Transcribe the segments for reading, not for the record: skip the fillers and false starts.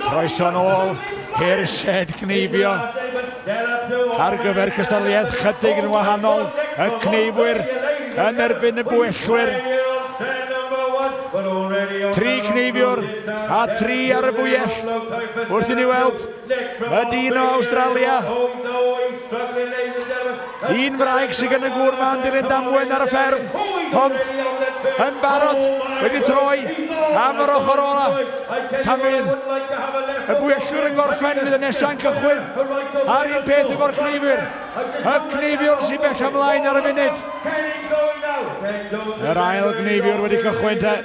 Croeso nôl i'r shed gneifio ar gyfer cystadleuaeth chydig yn wahanol. Y cneifwyr yn erbyn y bwyellwyr. 3 cneifiwr a 3 ar y fwyell. Wrth i ni weld y dyn o Awstralia. Un wraig sydd gen y gŵr ma'n dilyn damwain ar y fferm, ond yn barod wedi troi am yr ochr ola. Pan fydd y bwyellwyr yn gorffen, fydd y nesa'n cychwyn a'r un peth efo'r cneifwyr. Y cneifiwr sy'n bell ymlaen ar y funud. Yr ail gneifiwr wedi cychwyn te.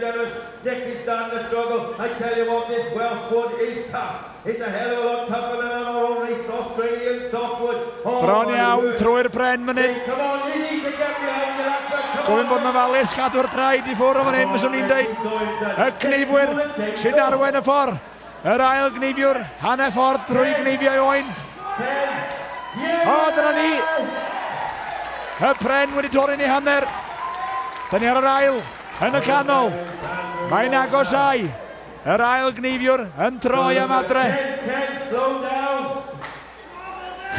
Nick is starting to struggle. I tell you what, this Welsh wood is tough. It's a hell of a lot tougher than our own East Australian softwood. Oh, Bron iawn trwy'r pren fan hyn. Come on, you need to get behind the latter. Gofyn bod yn ofalus, cadw'r traed i ffwrdd o fan hyn, fyswn i'n deud. Y cneifwyr sy'n arwain y ffordd. Yr ail gneifiwr, hanner ffordd drwy gneifio oen. O, dyna ni. Y pren wedi torri'n ei hanner. Dyna ni ar yr ail, yn y canol. Mae'n agosau. Yr ail gneifiwr yn troi am adre.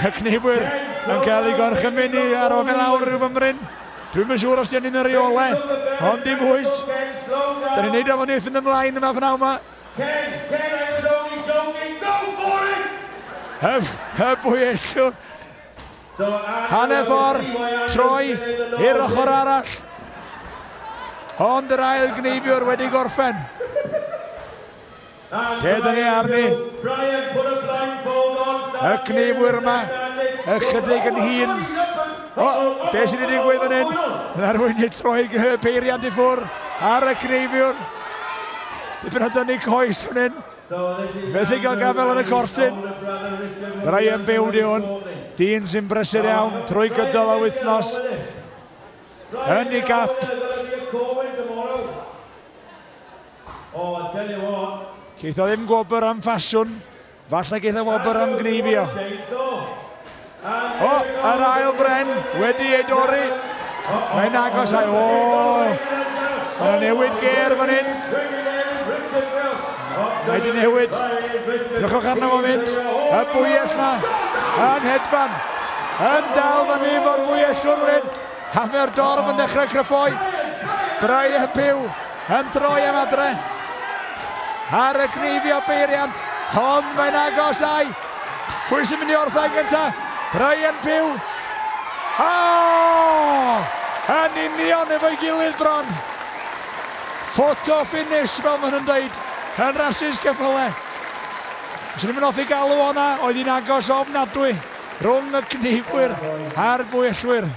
Y cneifwyr yn cael ei gorchymyn i ar ofyn lawr rhyw fymryn. Dwi'm yn siŵr os 'di hynny'n y reolau, ond dim bwys. Da ni'n neud o fan fynd ymlaen yma pnawn yma. Y bwyellwr. Hanner ffordd, troi i'r ochr arall. Ond yr ail gneifiwr wedi gorffen. Lle dyn ni arni? Y cneifwyr yma, ychydig yn hŷn. O, be sydd wedi digwydd fan hyn? Mae rhywun wedi troi y peiriant i ffwrdd ar y cneifiwr. Dipyn o dynnu coes fan hyn. Methu gael gafel yn y cortyn. Brian Bew di hwn. Dyn sy'n brysur iawn trwy gydol y wythnos. Yn ei gap. Geith o ddim gwobr am ffasiwn, falle geith o wobr am gneifio. O, yr ail bren wedi ei dorri. Mae'n agos ai, o! Mae'n newid gêr fan hyn. Mae wedi newid. Drychwch arno fo mynd. Y bwyell na yn hedfan. Yn dal fyny fo'r bwyellwr fan hyn. A mae'r dorf yn dechrau cryffoi. Brian Pugh yn troi am adre. Ar y gneifio beiriant, ond mae'n agos ai. Pwy sy'n mynd i orffen gyntaf? Brian Pugh. O! Yn union efo'i gilydd bron. Photo finish, fel maen nhw'n dweud, yn rasys ceffylau. Swn i'n hoffi galw o'na, oedd hi'n agos ofnadwy rhwng y cneifwyr a'r bwyellwyr.